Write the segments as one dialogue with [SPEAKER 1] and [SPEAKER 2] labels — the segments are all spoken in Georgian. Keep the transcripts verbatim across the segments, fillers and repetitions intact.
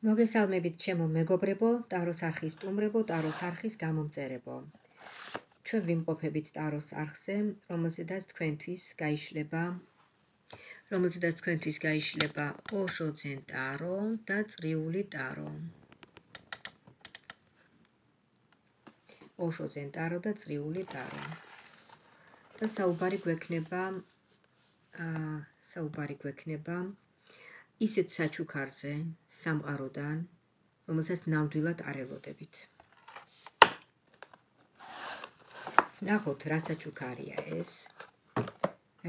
[SPEAKER 1] მოგესალმებით ჩემო მეგობრებო, ტაროს არხის სტუმრებო, ტაროს არხის გამომწერებო. ჩვენ ვიმყოფებით ტაროს არხზე, რომელზედაც თქვენთვის გაიშლება, რომელზედაც თქვენთვის გაიშლება ოშო ძენ ტარო და წრიული ტარო. ოშო ძენ ტარო და წრიული ტარო. და საუბარი გვექნება, აა, საუბარი გვექნება ისეთ საჩუქარზე სამყაროდან, რომელსაც ნამდვილად არ ელოდებით. ნახოთ, რა საჩუქარია ეს,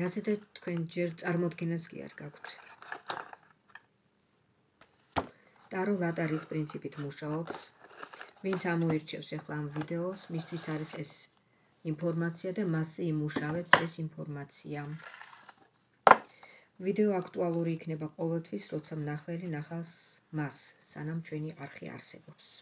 [SPEAKER 1] რაზედაც თქვენ ჯერ წარმოდგენაც კი არ გაქვთ. ტარო ლატარის პრინციპით მუშაობს. ვინც ამოირჩევს ახლა ამ ვიდეოს, მისთვის არის ეს ინფორმაცია და მასზე იმუშავებს ეს ინფორმაცია. ვიდეო აქტუალური იქნება ყოველთვის, როცა მნახველი ნახავს მას, სანამ ჩვენი არხი არსებობს.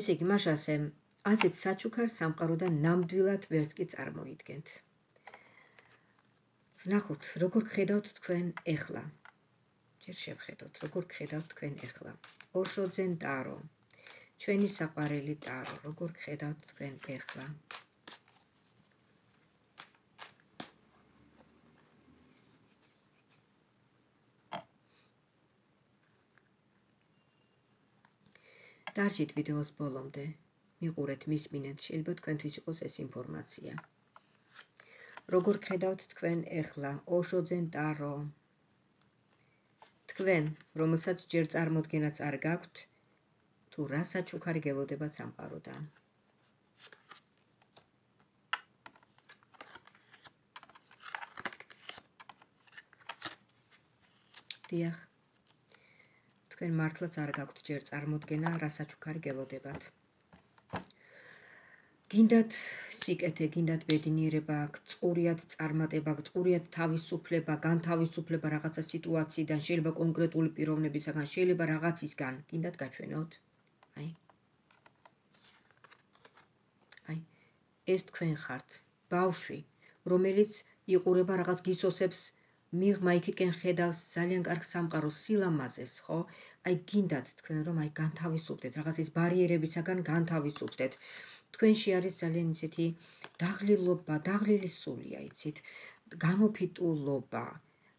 [SPEAKER 1] ესე იგი, მას ასე ასეთ საჩუქარს სამყაროდან ნამდვილად ვერც კი წარმოიდგენთ. ვნახოთ, როგორ გხედავთ თქვენ ეხლა. ჯერ შევხედოთ, როგორ გხედავთ თქვენ ეხლა. ოშო ძენ ტარო, ჩვენი საყვარელი ტარო, როგორ გხედავთ თქვენ ეხლა. დარჩით ვიდეოს ბოლომდე, მიყურეთ, მისმინეთ, შეიძლება თქვენთვის იყოს ეს ინფორმაცია. როგორ გხედავთ თქვენ ეხლა, ოშო ძენ ტარო. თქვენ, რომელსაც ჯერ წარმოდგენაც არ გაქვთ, თუ რა საჩუქარი გელოდებათ სამყაროდან. დიახ. თქვენ მართლაც არ გაქვთ ჯერ წარმოდგენა, რა საჩუქარი გელოდებათ. გინდათ სიკეთე, გინდათ ბედნიერება, გწყურიათ წარმატება, გწყურიათ თავისუფლება, განთავისუფლება რაღაცა სიტუაციიდან, შეიძლება კონკრეტული პიროვნებისაგან, შეიძლება რაღაცისგან, გინდათ გაჩვენოთ. აი. აი, ეს თქვენ ხართ, ბავშვი, რომელიც იყურება რაღაც გისოსებს, მიღმა იქიდან ხედავს ძალიან კარგ სამყაროს სილამაზეს, ხო? აი გინდათ თქვენ რომ აი განთავისუფლდეთ, რაღაცის ბარიერებისაგან განთავისუფლდეთ. თქვენში არის ძალიან ისეთი დაღლილობა, დაღლილი სულია, იცით, გამოფიტულობა,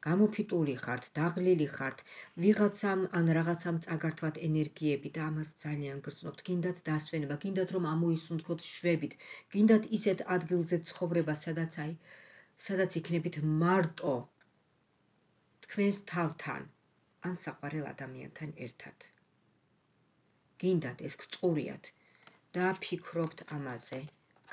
[SPEAKER 1] გამოფიტული ხართ, დაღლილი ხართ, ვიღაცამ ან რაღაცამ წაგართვათ ენერგიები და ამას ძალიან გრძნობთ, გინდათ დასვენება, გინდათ რომ ამოისუნთქოთ შვებით, გინდათ ისეთ ადგილზე ცხოვრება, სადაც აი, სადაც იქნებით მარტო თქვენს თავთან, ან საყვარელ ადამიანთან ერთად. გინდათ ეს გწყურიათ და ფიქრობთ ამაზე,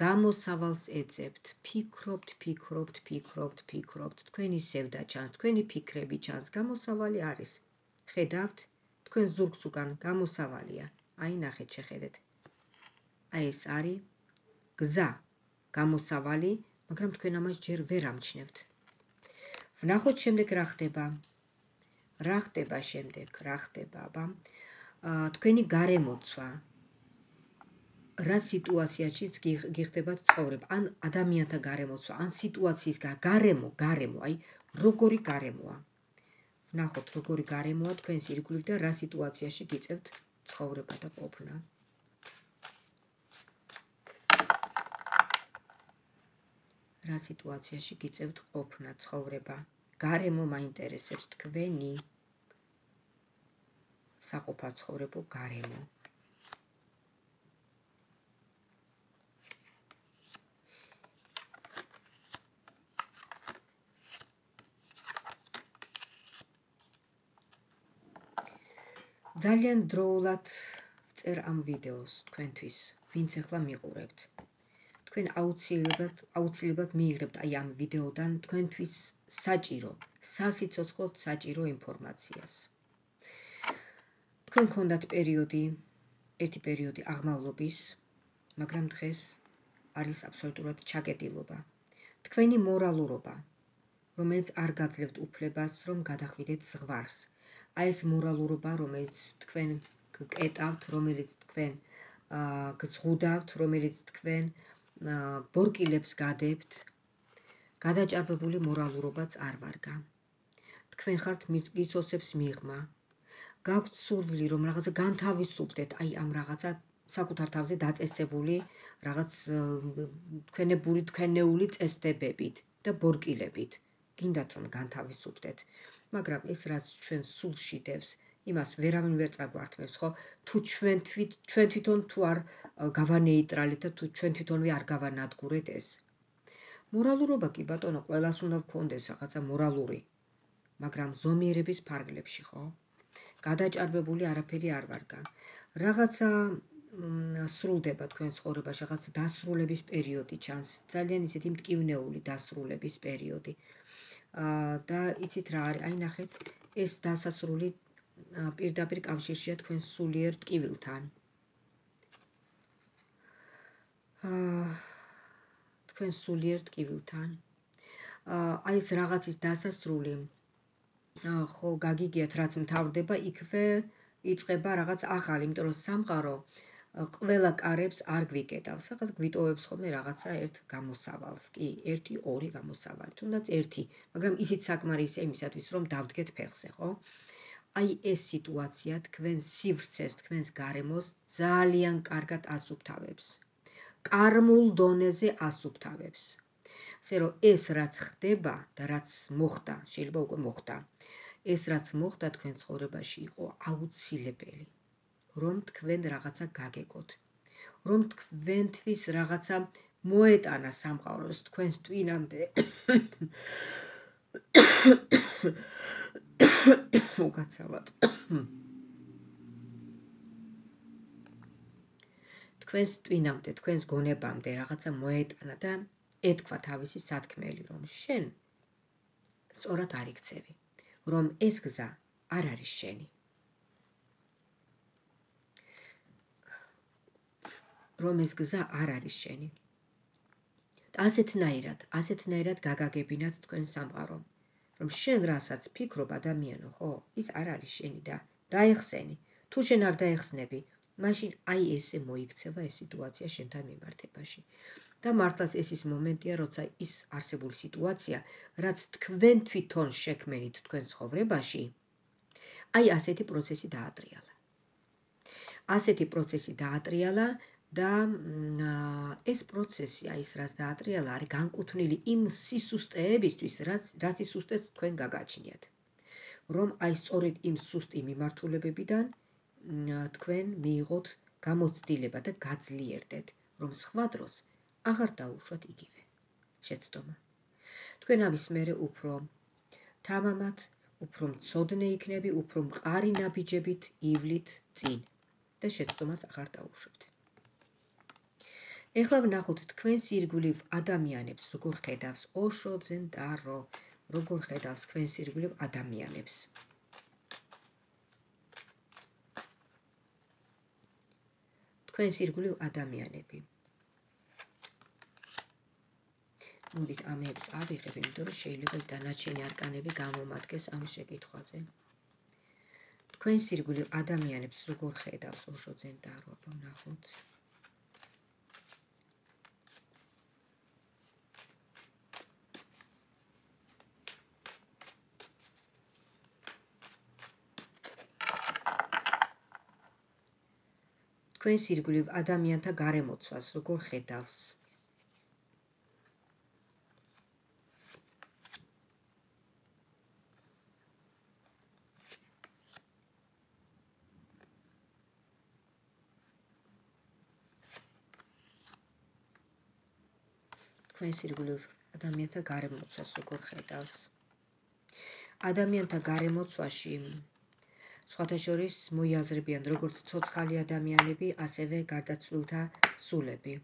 [SPEAKER 1] გამოსავალს ეძებთ, ფიქრობთ, ფიქრობთ, ფიქრობთ, ფიქრობთ, თქვენი სევდა ჩანს, თქვენი ფიქრები ჩანს, გამოსავალი არის. ხედავთ, თქვენ ზურგს უკან გამოსავალია. აი ნახეთ, შეხედეთ. აი ეს არის გზა, გამოსავალი, მაგრამ თქვენ ამას ჯერ ვერ ამჩნევთ. ვნახოთ შემდეგ რა ხდება. რა ხდება შემდეგ, რა ხდება, აბა. თქვენი გარემოცვა. რა სიტუაციაშიც გიხდებათ ცხოვრება, ან ადამიანთა გარემოცვა, ან სიტუაციის გარემო, გარემო, აი, როგორი გარემოა. ვნახოთ, როგორი გარემოა თქვენს ირგვლივ და რა სიტუაციაში გიწევთ ცხოვრება და ყოფნა. რა სიტუაციაში გიწევთ ყოფნა, ცხოვრება. გარემო მაინტერესებს თქვენი საყოფაცხოვრებო გარემო. ძალიან დროულად ვწერ ამ ვიდეოს თქვენთვის, ვინც ახლა მიყურებთ. თქვენ აუცილებლად, აუცილებლად მიიღებთ აი ამ ვიდეოდან თქვენთვის საჭირო, სასიცოცხლოდ საჭირო ინფორმაციას. თქვენ გქონდათ პერიოდი, ერთი პერიოდი აღმავლობის, მაგრამ დღეს არის აბსოლუტურად ჩაკეტილობა. თქვენი მორალურობა, რომელიც არ გაძლევთ უფლებას, რომ გადახვიდეთ ზღვარს. აი ეს მორალურობა, რომელიც თქვენ გკეტავთ, რომელიც თქვენ გზღუდავთ, რომელიც თქვენ ბორკილებს გადებთ, გადაჭარბებული მორალურობაც არ ვარგა. თქვენ ხართ გიცოცებს მიღმა, გაქვთ სურვილი, რომ რაღაცა განთავისუფლდეთ, აი ამ რაღაცა საკუთარ თავზე დაწესებული რაღაც თქვენებული თქვენეული წესდებებით და ბორკილებით. გინდათ რომ განთავისუფლდეთ, მაგრამ ეს რაც ჩვენ სულში დევს, იმას ვერავინ ვერ წაგვართმევს, ხო? თუ ჩვენ თვით ჩვენ თვითონ თუ არ გავანეიტრალეთ და თუ ჩვენ თვითონვე არ გავანადგურეთ ეს. მორალურობა კი ბატონო, ყველას უნდა გქონდეს რაღაცა მორალური, მაგრამ ზომიერების ფარგლებში, ხო? გადაჭარბებული არაფერი არ ვარგა. რაღაცა სრულდება თქვენ ცხოვრებაში, რაღაცა დასრულების პერიოდი ჩანს, ძალიან ისეთი მტკივნეული დასრულების პერიოდი. და იცით რა არის, აი ნახეთ, ეს დასასრული პირდაპირ კავშირშია თქვენ სულიერ ტკივილთან. თქვენ სულიერ ტკივილთან. აი ეს რაღაცის დასასრული, ხო, გაგიგიათ, რაც მთავრდება, იქვე იწყება რაღაც ახალი, იმიტომ რომ სამყარო ყველა კარებს არ გვიკეტავს, რაღაც გვიტოვებს ხოლმე რაღაცა ერთ გამოსავალს, კი, ერთი, ორი გამოსავალი, თუნდაც ერთი, მაგრამ ისიც საკმარისია იმისათვის, რომ დავდგეთ ფეხზე, ხო? აი ეს სიტუაცია თქვენ სივრცეს, თქვენს გარემოს ძალიან კარგად ასუფთავებს. კარმულ დონეზე ასუფთავებს. ასე რომ ეს რაც ხდება და რაც მოხდა, შეიძლება უკვე მოხდა. ეს რაც მოხდა თქვენ ცხოვრებაში იყო აუცილებელი, რომ თქვენ რაღაცა გაგეკოთ, რომ თქვენთვის რაღაცა მოეტანა სამყაროს თქვენს ტვინამდე. მოგაცავად. თქვენს ტვინამდე, თქვენს გონებამდე რაღაცა მოეტანა და ეთქვა თავისი სათქმელი, რომ შენ სწორად არ იქცევი, რომ ეს გზა არ არის შენი. რომ ეს გზა არ არის შენი. ასეთნაირად, ასეთნაირად გაგაგებინათ თქვენ სამყარო, რომ შენ რასაც ფიქრობ ადამიანო, ხო, ის არ არის შენი და დაეხსენი. თუ შენ არ დაეხსნები, მაშინ აი ესე მოიქცევა ეს სიტუაცია შენთან მიმართებაში. და მართლაც ეს ის მომენტია, როცა ის არსებული სიტუაცია, რაც თქვენ თვითონ შექმნით თქვენ ცხოვრებაში, აი ასეთი პროცესი დაატრიალა. ასეთი პროცესი დაატრიალა და ეს პროცესი, აი ეს რაც დაატრიალა, არის განკუთვნილი იმ სისუსტეებისთვის, რაც რაც სისუსტეც თქვენ გაგაჩნიათ. რომ აი სწორედ იმ სუსტი მიმართულებებიდან თქვენ მიიღოთ გამოცდილება და გაძლიერდეთ, რომ სხვა დროს აღარ დაუშვათ იგივე შეცდომა. თქვენ ამის მერე უფრო თამამად, უფრო მცოდნე იქნები, უფრო მყარი ნაბიჯებით ივლით წინ და შეცდომას აღარ დაუშვებთ. ეხლა ვნახოთ თქვენს ირგვლივ ადამიანებს, როგორ ხედავს ოშო ძენდარო, როგორ ხედავს თქვენს ირგვლივ ადამიანებს. თქვენს ირგვლივ ადამიანები. მოდით ამებს ავიღებ, იმიტომ რომ შეიძლება დანარჩენი არკანები გამომადგეს ამ შეკითხვაზე. თქვენს ირგვლივ ადამიანებს როგორ ხედავს ოშო ძენდარო, ვნახოთ. თქვენს ირგვლივ ადამიანთა გარემოცვას როგორ ხედავს. თქვენს ირგვლივ ადამიანთა გარემოცვას როგორ ხედავს. ადამიანთა გარემოცვაში სხვათა შორის მოიაზრებიან როგორც ცოცხალი ადამიანები, ასევე გარდაცვლილთა სულები,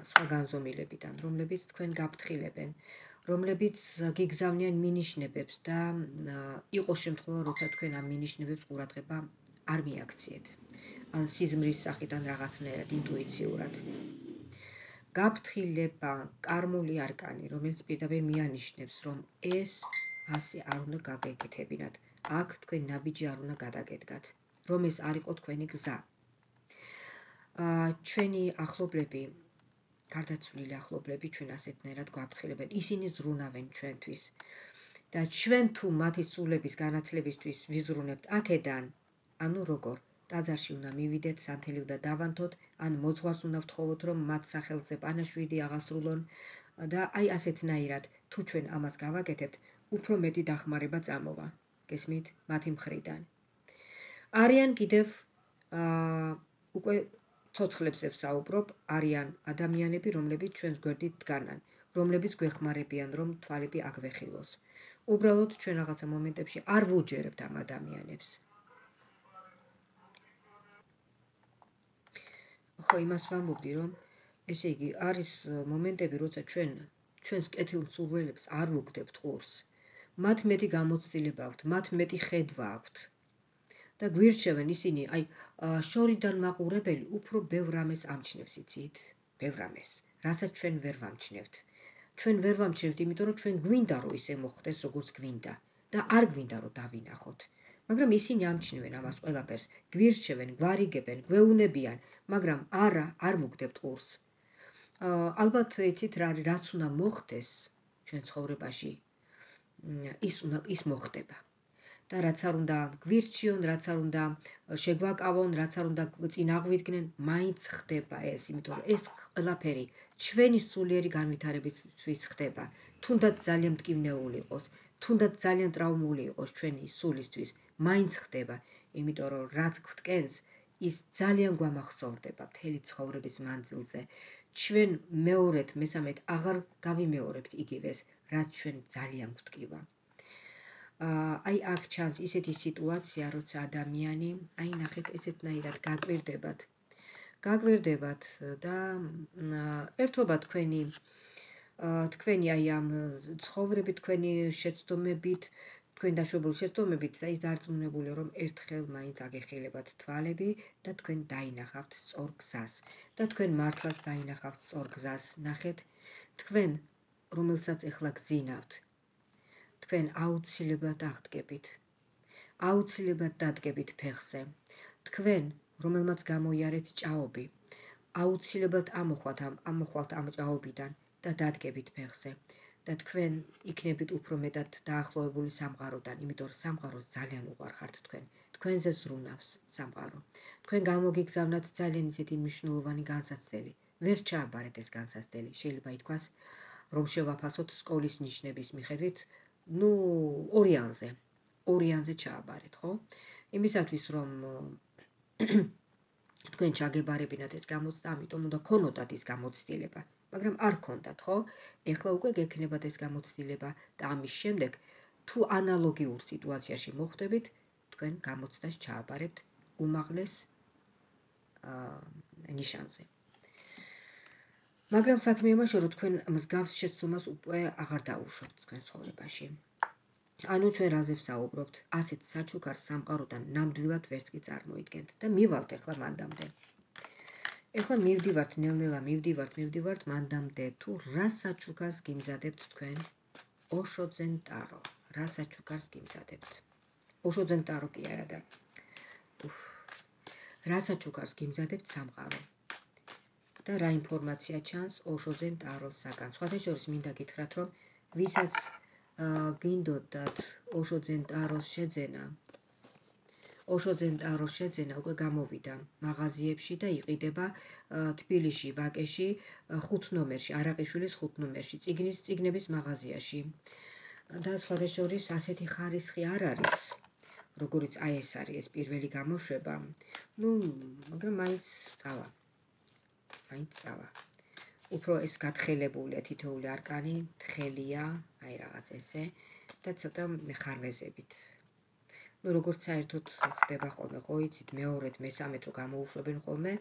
[SPEAKER 1] სხვა განზომილებიდან, რომლებიც თქვენ გაფრთხილებენ, რომლებიც გიგზავნიან მინიშნებებს და იყო შემთხვევა, როცა თქვენ ამ მინიშნებებს ყურადღება არ მიაქციეთ, ან სიზმრის სახიდან რაღაცნაირად ინტუიციურად. გაფრთხილება, კარმული არკანი, რომელიც პირდაპირ მიანიშნებს, რომ ეს ასე არ უნდა გაგეკეთებინათ. აქ თქვენ ნაბიჯი არ უნდა გადაგედგათ, რომ ეს არ იყო თქვენი გზა. ჩვენი ახლობლები, გარდაცვლილი ახლობლები ჩვენ ასეთნაირად გვაფრთხილებენ. ისინი ზრუნავენ ჩვენთვის. და ჩვენ თუ მათი სულების განათლებისთვის ვიზრუნებთ აქედან, ანუ როგორ? ტაძარში უნდა მივიდეთ, სანთელი უნდა დავანთოთ, ან მოძღვარს უნდა ვთხოვოთ, რომ მათ სახელზე პანაშვიდი აღასრულონ და აი ასეთნაირად, თუ ჩვენ ამას გავაკეთებთ, უფრო მეტი დახმარება წამოვა. გესმით? მათი მხრიდან. არიან კიდევ აა უკვე ცოცხლებზე ვსაუბრობ, არიან ადამიანები, რომლებიც ჩვენს გვერდით დგანან, რომლებიც გვეხმარებიან, რომ თვალები აგვეხილოს. უბრალოდ ჩვენ რაღაცა მომენტებში არ ვუჯერებთ ამ ადამიანებს. ხო, იმას ვამბობდი, რომ ესე იგი არის მომენტები, როცა ჩვენ ჩვენს კეთილ მსურველებს არ ვუგდებთ ყურს. მათ მეტი გამოცდილება აქვთ, მათ მეტი ხედვა აქვთ. და გვირჩევენ ისინი, აი, შორიდან მაყურებელი უფრო ბევრ რამეს ამჩნევს, იცით? ბევრ რამეს, რასაც ჩვენ ვერ ვამჩნევთ. ჩვენ ვერ ვამჩნევთ, იმიტომ რომ ჩვენ გვინდა რომ ისე მოხდეს, როგორც გვინდა და არ გვინდა რომ დავინახოთ. მაგრამ ისინი ამჩნევენ ამას ყველაფერს, გვირჩევენ, გვარიგებენ, გვეუნებიან, მაგრამ არა, არ ვუგდებთ ყურს. ალბათ იცით რა არის, რაც უნდა მოხდეს ჩვენ ცხოვრებაში, ის უნდა ის მოხდება. და რაც არ უნდა გვირჩიონ, რაც არ უნდა შეგვაკავონ, რაც არ უნდა წინ აღვიდგნენ, მაინც ხდება ეს, იმიტომ რომ ეს ყველაფერი ჩვენი სულიერი განვითარებისთვის ხდება. თუნდაც ძალიან მტკივნეული იყოს, თუნდაც ძალიან ტრავმული იყოს ჩვენი სულისთვის, მაინც ხდება, იმიტომ რომ რაც გვტკენს, ის ძალიან გვამახსოვრდება მთელი ცხოვრების მანძილზე. ჩვენ მეორედ, მესამედ აღარ გავიმეორებთ იგივეს, რაც ჩვენ ძალიან გვტკივა. აი აქ ჩანს ისეთი სიტუაცია, როცა ადამიანი, აი ნახეთ, ესეთნაირად გაკვირდებათ. გაკვირდებათ და ერთობა თქვენი თქვენი აი ამ ცხოვრებით, თქვენი შეცდომებით, თქვენ დაშვებული შეცდომებით და ის დარწმუნებული, რომ ერთხელ მაინც აგეხილებათ თვალები და თქვენ დაინახავთ სწორ გზას და თქვენ მართლაც დაინახავთ სწორ გზას. ნახეთ, თქვენ, რომელსაც ეხლა გძინავთ, თქვენ აუცილებლად აღდგებით. აუცილებლად დადგებით ფეხზე. თქვენ, რომელმაც გამოიარეთ ჭაობი, აუცილებლად ამოხვალთ ამ ამოხვალთ ამ ჭაობიდან და დადგებით ფეხზე. და თქვენ იქნებით უფრო მეტად დაახლოებული სამყაროდან, იმიტომ რომ სამყაროს ძალიან უყვარხართ თქვენ. თქვენზე ზრუნავს სამყარო. თქვენ გამოგიგზავნათ ძალიან ისეთი მნიშვნელოვანი განსაცდელი. ვერ ჩააბარეთ ეს განსაცდელი. შეიძლება ითქვას, რომ შევაფასოთ სკოლის ნიშნების მიხედვით, ну, ორიანზე. ორიანზე ჩააბარეთ, ხო? იმისათვის, რომ თქვენ ჩაგებარებინათ ეს გამოცდა, ამიტომ უნდა ქონოდათ ის გამოცდილება. მაგრამ არ ქონდათ, ხო? ეხლა უკვე გექნებათ ეს გამოცდილება და ამის შემდეგ, თუ ანალოგიურ სიტუაციაში მოხვდებით, თქვენ გამოცდას ჩააბარებთ უმაღლეს ნიშანზე. მაგრამ საქმე იმაშია, რომ თქვენ მსგავს შეცდომას უკვე აღარ დაუშვებთ თქვენ ცხოვრებაში. ანუ ჩვენ რაზე ვსაუბრობთ? ასეთ საჩუქარ სამყაროდან ნამდვილად ვერც კი წარმოიდგენთ და მივალთ ეხლა მანდამდე. ეხლა მივდივართ, ნელ-ნელა მივდივართ, მივდივართ მანდამდე, თუ რა საჩუქარს გიმზადებთ თქვენ? ოშოძენ ტარო. რა საჩუქარს გიმზადებთ? ოშოძენ ტარო კი არა და რა საჩუქარს გიმზადებთ სამყარო? და რა ინფორმაცია ჩანს ოშოძენ ტაროსაგან? სხვათა შორის მინდა გითხრათ, რომ ვისაც გინდოდათ ოშოძენ ტაროს შეძენა, ოშოძენ ტაროს შეძენა უკვე გამოვიდა მაღაზიებში და იყიდება თბილისში, ვაკეში, ხუთ ნომერში, არაყიშვილის ხუთ ნომერში, წიგნის წიგნების მაღაზიაში. და სხვათა შორის ასეთი ხარისხი არ არის, როგორიც აი ეს არის ეს პირველი გამოშვება. ნუ, მაგრამ მაინც წავა. მაინც წავა. უფრო ეს გათხელებულია თითოეული არკანი, თხელია, აი რაღაც ესე და ცოტა ხარვეზებით. ნუ როგორც საერთოდ ხდება ხოლმე, ხო იცით, მეორედ, მესამედ რო გამოუშვებენ ხოლმე,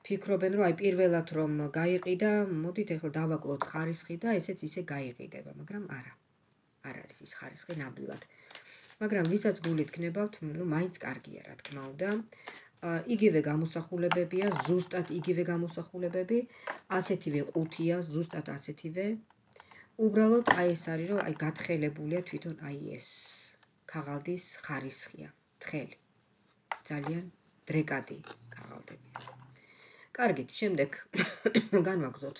[SPEAKER 1] ფიქრობენ, რომ აი პირველად რომ გაიყიდა, მოდით ეხლა დავაკლოთ ხარისხი და ესეც ისე გაიყიდება, მაგრამ არა. არ არის ის ხარისხი ნამდვილად. მაგრამ ვისაც გულით გნებავთ, ნუ მაინც კარგია, რა თქმა უნდა. იგივე გამოსახულებებია, ზუსტად იგივე გამოსახულებები, ასეთივე ყუთია, ზუსტად ასეთივე. უბრალოდ აი ეს არის, რომ აი გათხელებულია თვითონ აი ეს ქაღალდის ხარისხია, თხელი. ძალიან დრეკადი ქაღალდებია. კარგით, შემდეგ განვაგზოთ.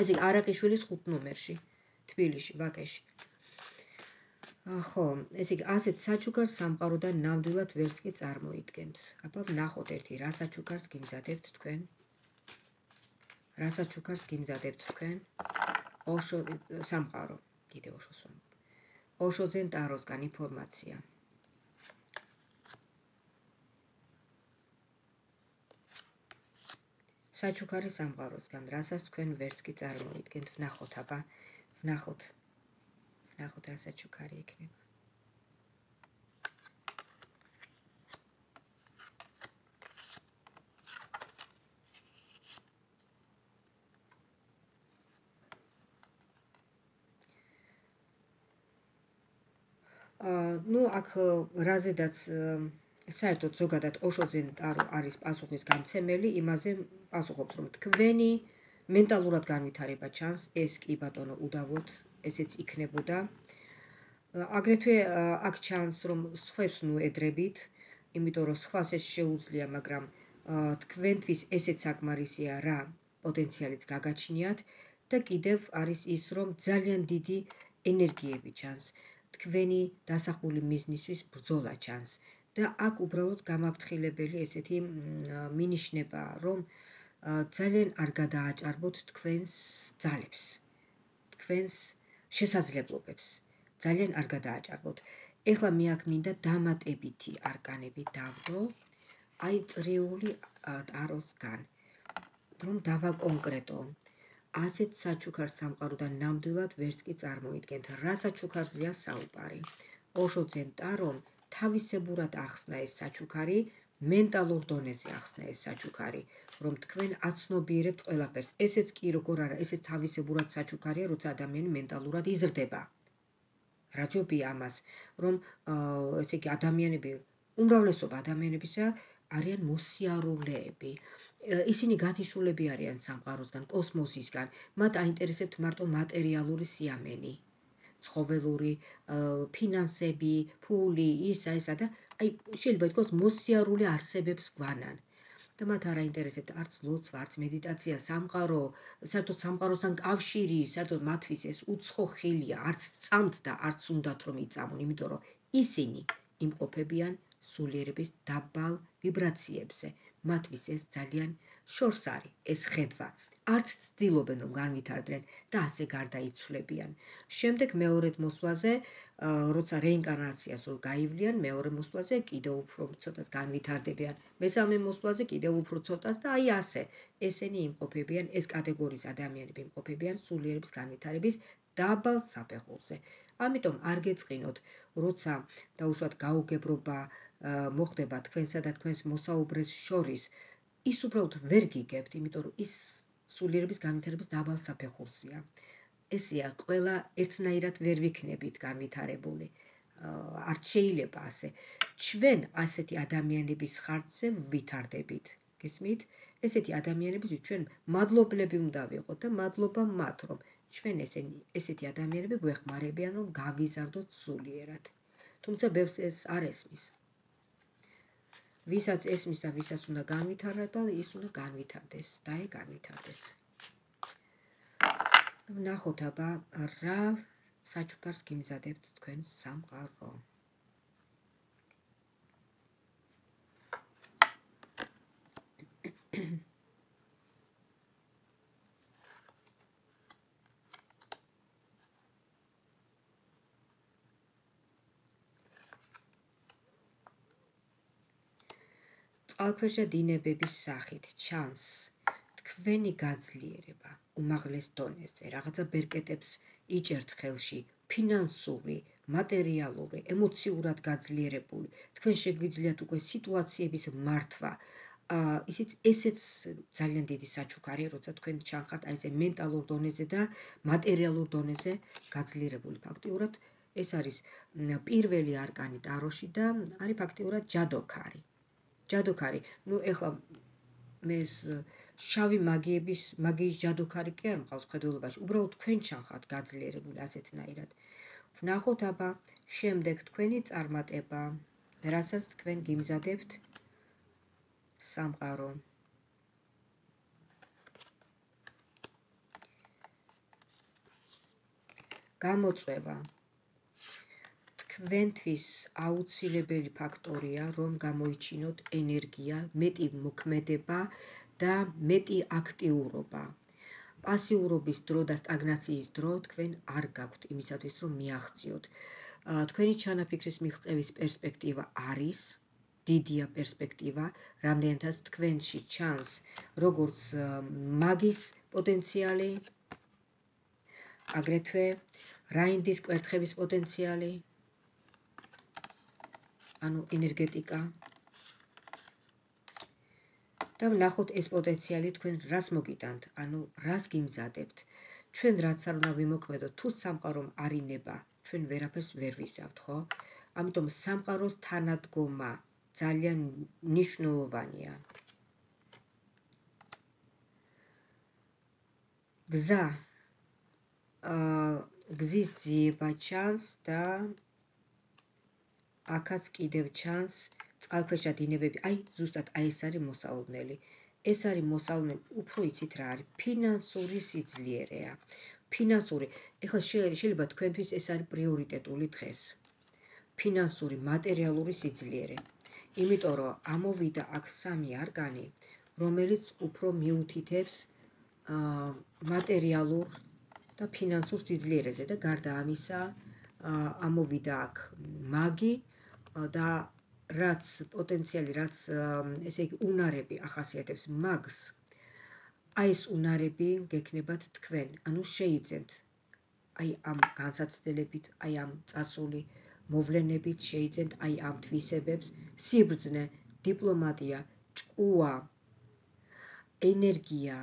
[SPEAKER 1] ესე იგი არაყიშვილის ხუთ ნომერში, თბილისში, ვაკეში. ხო, ესე იგი ასეთ საჩუქარს სამყაროდან ნამდვილად ვერც კი წარმოიდგენთ. აბა ვნახოთ ერთი, რა საჩუქარს გიმზადებთ თქვენ? რა საჩუქარს გიმზადებთ თქვენ? ოშო სამყარო, კიდე ოშოს რომ. ოშოძენ ტაროსგან ინფორმაცია. საჩუქარი სამყაროსგან, რასაც თქვენ ვერც კი წარმოიდგენთ, ვნახოთ, აბა, ვნახოთ. ვნახოთ რა საჩუქარი იქნება. ну, აქ რაზედაც საერთოდ ზოგადად ოშოძენ ტარო არის პასუხის გამცემელი, იმაზე პასუხობს, რომ თქვენი მენტალურად განვითარება ჩანს, ეს კი ბატონო უდავოდ, ესეც იქნებოდა. აგრეთვე აქ ჩანს, რომ სხვებს ნუ ედრებით, იმიტომ რომ სხვას ეს შეუძლია, მაგრამ თქვენთვის ესეც საკმარისია რა პოტენციალიც გაგაჩნიათ და კიდევ არის ის, რომ ძალიან დიდი ენერგიები ჩანს. თქვენი დასახული მიზნისთვის ბრძოლა ჩანს და აქ უბრალოდ გამაფრთხილებელი ესეთი მინიშნება, რომ ძალიან არ გადააჭარბოთ თქვენს ძალებს, თქვენს შესაძლებლობებს, ძალიან არ გადააჭარბოთ. ეხლა მე აქ მინდა დამატებითი არკანები დავდო, აი წრიული ტაროსგან, რომ დავაკონკრეტო. ასეთ საჩუქარს სამყაროდან ნამდვილად ვერც კი წარმოიდგენთ. რა საჩუქარზეა საუბარი? ოშოძენ ტარომ თავისებურად ახსნა ეს საჩუქარი, მენტალურ დონეზე ახსნა ეს საჩუქარი, რომ თქვენ აცნობიერებთ ყველაფერს. ესეც კი როგორ არა, ესეც თავისებურად საჩუქარია, როცა ადამიანი მენტალურად იზრდება. რა ჯობია ამას, რომ ესე იგი ადამიანები, უმრავლესობა ადამიანებისა არიან მოსიარულეები. ისინი გათიშულები არიან სამყაროსგან, კოსმოსისგან, მათ აინტერესებთ მარტო მატერიალური სიამენი, ცხოველური, ფინანსები, ფული, ისა, ისა და აი შეიძლება ითქვას მოსიარული არსებებს გვანან. და მათ არ აინტერესებთ არც ლოცვა, არც მედიტაცია, სამყარო, საერთოდ სამყაროსთან კავშირი, საერთოდ მათთვის ეს უცხო ხელია, არც წამთ და არც უნდათ რომ იწამონ, იმიტომ რომ ისინი იმყოფებიან სულიერების დაბალ ვიბრაციებზე. მათთვის ეს ძალიან შორს არის, ეს ხედვა. არც ცდილობენ რომ განვითარდნენ და ასე გარდაიცვლებიან. შემდეგ მეორედ მოსვლაზე, როცა რეინკარნაციას რო გაივლიან, მეორე მოსვლაზე კიდევ უფრო ცოტას განვითარდებიან. მესამე მოსვლაზე კიდევ უფრო ცოტას და აი ასე. ესენი იმყოფებიან, ეს კატეგორიის ადამიანები იმყოფებიან სულიერების განვითარების დაბალ საფეხურზე. ამიტომ არ გეწყინოთ, როცა დაუშვათ გაუგებრობა მოხდება თქვენსა და თქვენს მოსაუბრეს შორის, ის უბრალოდ ვერ გიგებთ, იმიტომ რომ ის სულიერების განვითარების დაბალ საფეხურზეა. ესეა, ყველა ერთნაირად ვერ ვიქნებით განვითარებული. არ შეიძლება ასე. ჩვენ ასეთი ადამიანების ხარჯზე ვითარდებით. გესმით? ესეთი ადამიანებისთვის ჩვენ მადლობლები უნდა ვიყოთ და მადლობა მათ, რომ ჩვენ ესენი ესეთი ადამიანები გვეხმარებიან, რომ გავიზარდოთ სულიერად. თუმცა ბევრს ეს არ ესმის. ვისაც ესმის და ვისაც უნდა განვითარდეს და ის უნდა განვითარდეს, და აი განვითარდეს. ვნახოთ აბა რა საჩუქარს გიმზადებთ თქვენ სამყარო. წყალქვეშა დინებების სახით ჩანს თქვენი გაძლიერება უმაღლეს დონეზე, რაღაცა ბერკეტებს იჭერთ ხელში, ფინანსური, მატერიალური, ემოციურად გაძლიერებული, თქვენ შეგვიძლიათ უკვე სიტუაციების მართვა. ისიც ესეც ძალიან დიდი საჩუქარია, როცა თქვენ ჩანხართ აი ესე მენტალურ დონეზე და მატერიალურ დონეზე გაძლიერებული. ფაქტიურად ეს არის პირველი არკანი ტაროში და არის ფაქტიურად ჯადოქარი. ჯადოქარი, ნუ ეხლა მე ეს შავი მაგიების მაგიის ჯადოქარი კი არ მყავს მხედველობაში, უბრალოდ თქვენ ჩანხართ გაძლიერებული ასეთნაირად. ვნახოთ აბა შემდეგ თქვენი წარმატება, რასაც თქვენ გიმზადებთ სამყარო. გამოწვევა. თქვენთვის აუცილებელი ფაქტორია, რომ გამოიჩინოთ ენერგია, მეტი მოქმედება და მეტი აქტიურობა. პასიურობის დრო და სტაგნაციის დრო თქვენ არ გაქვთ იმისათვის, რომ მიაღწიოთ. თქვენი ჩანაფიქრის მიღწევის პერსპექტივა არის, დიდია პერსპექტივა, რამდენადაც თქვენში ჩანს როგორც მაგის პოტენციალი, აგრეთვე რაინდის კვერთხების პოტენციალი, ანუ ენერგეტიკა. და ვნახოთ ეს პოტენციალი თქვენ რას მოგიტანთ, ანუ რას გიმზადებთ. ჩვენ რაც არ უნდა ვიმოქმედოთ, თუ სამყარომ არ ინება, ჩვენ ვერაფერს ვერ ვისავთ, ხო? ამიტომ სამყაროს თანადგომა ძალიან მნიშვნელოვანია. გზა გზის ძიება ჩანს და აქაც კიდევ ჩანს წყალქვეშა დინებები. აი, ზუსტად აი ეს არის მოსალოდნელი. ეს არის მოსალოდნელი, უფრო იცით რა არის? ფინანსური სიძლიერეა. ფინანსური, ეხლა შეიძლება თქვენთვის ეს არის პრიორიტეტული დღეს. ფინანსური, მატერიალური სიძლიერე. იმიტომ რომ ამოვიდა აქ სამი არკანი, რომელიც უფრო მიუთითებს მატერიალურ და ფინანსურ სიძლიერეზე და გარდა ამისა ამოვიდა აქ მაგი და რაც პოტენციალი, რაც ესე იგი უნარები ახასიათებს მაგს, აი ეს უნარები გექნებათ თქვენ, ანუ შეიძენთ აი ამ განსაცდელებით, აი ამ წასული მოვლენებით შეიძენთ აი ამ თვისებებს, სიბრძნე, დიპლომატია, ჭკუა, ენერგია,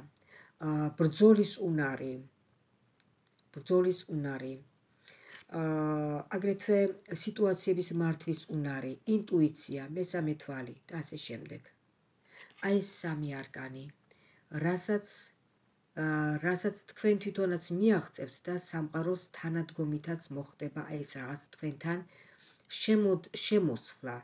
[SPEAKER 1] ბრძოლის უნარი, ბრძოლის უნარი, აგრეთვე სიტუაციების მართვის უნარი, ინტუიცია, მესამე თვალი და ასე შემდეგ. აი ეს სამი არკანი, რასაც რასაც თქვენ თვითონაც მიაღწევთ და სამყაროს თანადგომითაც მოხდება აი ეს რაღაც თქვენთან შემოსხლა,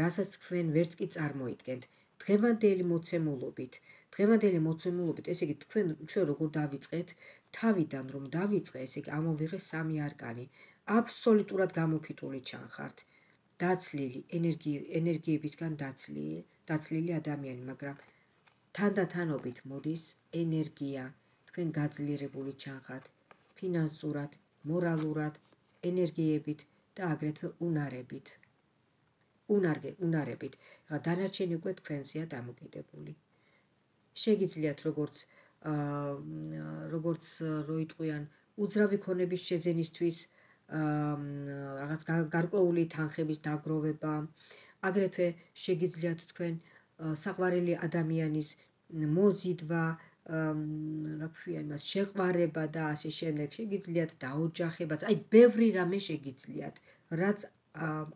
[SPEAKER 1] რასაც თქვენ ვერც კი წარმოიდგენთ. დღევანდელი მოცემულობით, დღევანდელი მოცემულობით, ესე იგი თქვენ ჩვენ როგორ დავიწყეთ, თავიდან რომ დავიწყე, ესე იგი ამოვიღე სამი არკანი. აბსოლუტურად გამოფიტული ჩანხართ. დაცლილი, ენერგიებისგან დაცლილი, დაცლილი ადამიანი, მაგრამ თანდათანობით მოდის ენერგია, თქვენ გაძლიერებული ჩანხართ, ფინანსურად, მორალურად, ენერგიებით და აგრეთვე უნარებით. უნარგე, უნარებით. დანარჩენი უკვე თქვენზეა დამოკიდებული. შეგიძლიათ როგორც როგორც როიტყვიან უძრავი ქონების შეძენისთვის რაღაც გარკვეული თანხების დაგროვება, აგრეთვე შეგიძლიათ თქვენ საყვარელი ადამიანის მოზიდვა, რა ქვია იმას, შეყვარება და ასე შემდეგ, შეგიძლიათ დაოჯახებაც, აი ბევრი რამე შეგიძლიათ, რაც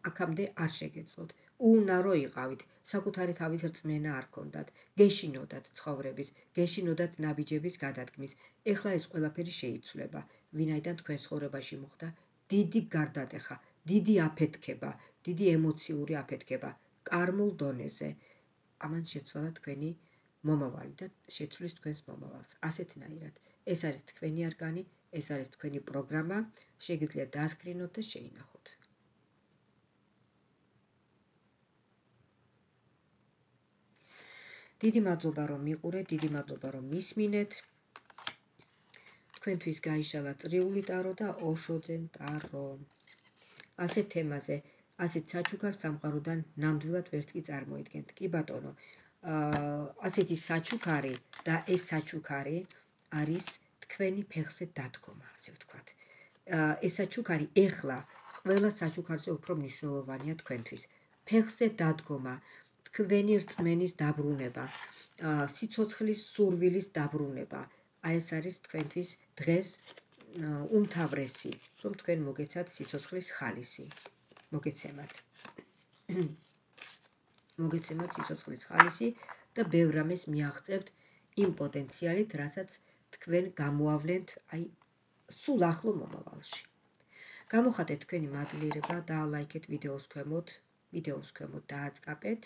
[SPEAKER 1] აქამდე არ შეგეძლოთ. უნარო იყავით, საკუთარი თავის რწმენა არ ქონდათ, გეშინოდათ ცხოვრების, გეშინოდათ ნაბიჯების გადადგმის. ეხლა ეს ყველაფერი შეიცვლება, ვინაიდან თქვენ ცხოვრებაში მოხდა დიდი გარდატეხა, დიდი აფეთქება, დიდი ემოციური აფეთქება, კარმულ დონეზე. ამან შეცვალა თქვენი მომავალი და შეცვლის თქვენს მომავალს. ასეთნაირად. ეს არის თქვენი არკანი, ეს არის თქვენი პროგრამა, შეგიძლიათ დაასკრინოთ და შეინახოთ. დიდი მადლობა რომ მიყურეთ, დიდი მადლობა რომ მისმინეთ. თქვენთვის გაიშალა წრიული ტარო და ოშოძენ ტარო. ასეთ თემაზე, ასეთ საჩუქარ სამყაროდან ნამდვილად ვერც კი წარმოიდგენთ. კი ბატონო, ასეთი საჩუქარი და ეს საჩუქარი არის თქვენი ფეხზე დადგომა, ასე ვთქვათ. ეს საჩუქარი ეხლა ყველა საჩუქარზე უფრო მნიშვნელოვანია თქვენთვის. ფეხზე დადგომა, თქვენი რწმენის დაბრუნება, სიცოცხლის სურვილის დაბრუნება. აი ეს არის თქვენთვის დღეს უმთავრესი, რომ თქვენ მოგეცათ სიცოცხლის ხალისი, მოგეცემათ. მოგეცემათ სიცოცხლის ხალისი და ბევრ რამეს მიაღწევთ იმ პოტენციალით, რასაც თქვენ გამოავლენთ აი სულ ახლო მომავალში. გამოხატეთ თქვენი მადლიერება და ლაიქეთ ვიდეოს ქვემოთ, ვიდეოს ქვემოთ დააწყაპეთ.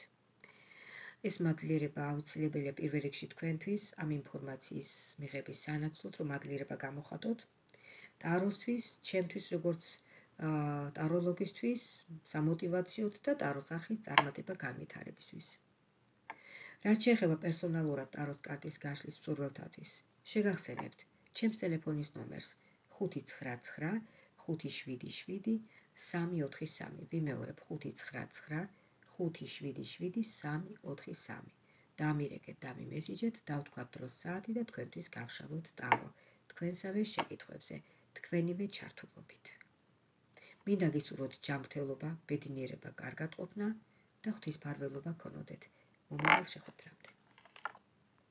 [SPEAKER 1] ეს მადლიერება აუცილებელია პირველ რიგში თქვენთვის ამ ინფორმაციის მიღების სანაცვლოდ, რომ მადლიერება გამოხატოთ ტაროსთვის, ჩემთვის როგორც ტაროლოგისთვის, სამოტივაციოდ და ტაროს არხის წარმატება განვითარებისთვის. რაც შეეხება პერსონალურად ტაროს კარტის გაშლის მსურველთათვის, შეგახსენებთ ჩემს ტელეფონის ნომერს ხუთი ცხრა ცხრა ხუთი შვიდი შვიდი სამი ოთხი სამი. ვიმეორებ ხუთი ცხრა ცხრა ხუთი შვიდი შვიდი სამი ოთხი სამი. დამირეკეთ, დამიმესიჯეთ, დავთქვათ დროს საათი და თქვენთვის გავშალოთ ტარო თქვენსავე შეკითხვებზე, თქვენივე ჩართულობით. მინდა გისურვოთ ჯანმრთელობა, ბედნიერება, კარგად ყოფნა და ღვთისმფარველობა გქონოდეთ. მომავალ შეხვედრამდე.